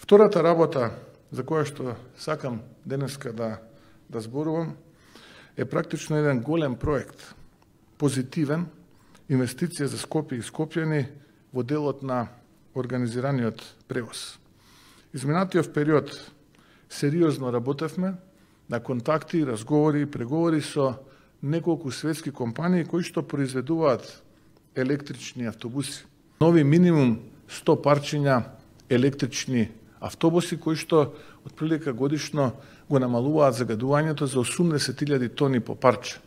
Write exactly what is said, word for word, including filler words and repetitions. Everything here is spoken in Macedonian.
Втората работа за која што сакам денеска да, да зборувам е практично еден голем проект, позитивен, инвестиција за Скопје и Скопјани во делот на организираниот превоз. Изминатиот период сериозно работевме на контакти, разговори и преговори со неколку светски компании кои што произведуваат електрични автобуси. Нови минимум сто парчиња електрични автобуси кои што отприлика годишно го намалуваат загадувањето за осумдесет илјади тони по парче.